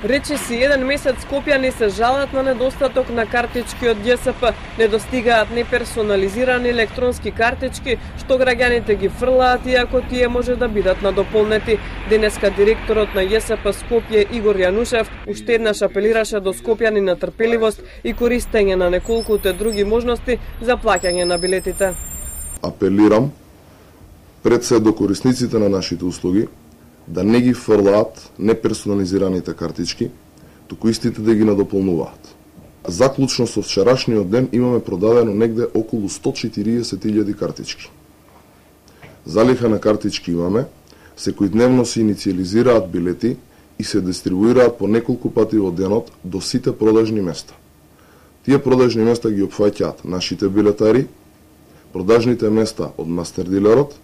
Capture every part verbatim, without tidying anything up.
Рече си еден месец скопјани се жалат на недостаток на картички од Ј С П, не достигаат неперсонализирани електронски картички, што граѓаните ги фрлаат иако тие може да бидат надополнети. Денеска директорот на Ј С П Скопје Игор Јанушев уште еднаш апелираше до скопјани на трпеливост и користење на неколкуте други можности за плаќање на билетите. Апелирам пред се до корисниците на нашите услуги да не ги фрлаат неперсонализираните картички, туку истите да ги надополнуваат. Заклучно со вчерашниот ден имаме продадено негде околу сто и четириесет илјади картички. Залиха на картички имаме, секојдневно се иницијализираат билети и се дистрибуираат по неколку пати во денот до сите продажни места. Тие продажни места ги опфаќаат нашите билетари, продажните места од мастер дилерот,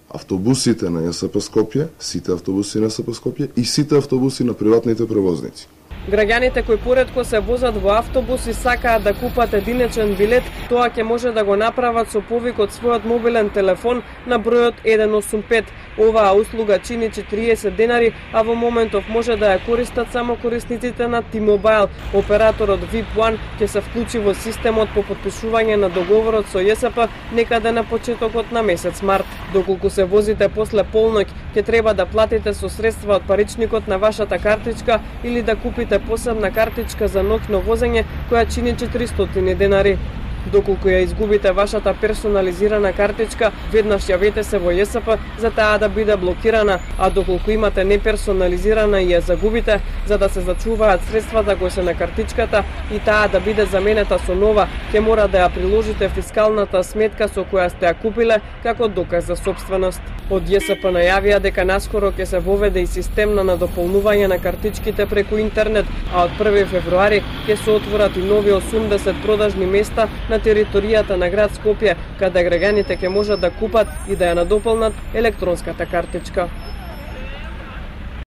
автобусите на Ј С П Скопје, сите автобуси на Ј С П Скопје и сите автобуси на приватните превозници. Граѓаните кои поретко се возат во автобус и сакаат да купат единечен билет, тоа ќе може да го направат со повик од својот мобилен телефон на бројот еден осум пет. Оваа услуга чини четириесет денари, а во моментов може да ја користат само корисниците на T-Mobile. Операторот V I P еден ќе се вклучи во системот по потпишување на договорот со Ј С П некаде на почетокот на месец март. Доколку се возите после полноќ, ќе треба да платите со средства од паричникот на вашата картичка или да купите посебна картичка за ноќно возење која чини четиристотини денари. Доколку ја изгубите вашата персонализирана картичка, веднаш јавете се во Ј С П за таа да биде блокирана, а доколку имате неперсонализирана и ја загубите, за да се зачуваат средствата кои се на картичката и таа да биде заменета со нова, ќе мора да ја приложите фискалната сметка со која сте ја купиле како доказ за сопственост. Од Ј С П најавија дека наскоро ќе се воведе и систем на надополнување на картичките преку интернет, а од први февруари ќе се отворат и нови осумдесет продажни места на територијата на град Скопје, каде граѓаните ќе можат да купат и да ја надополнат електронската картичка.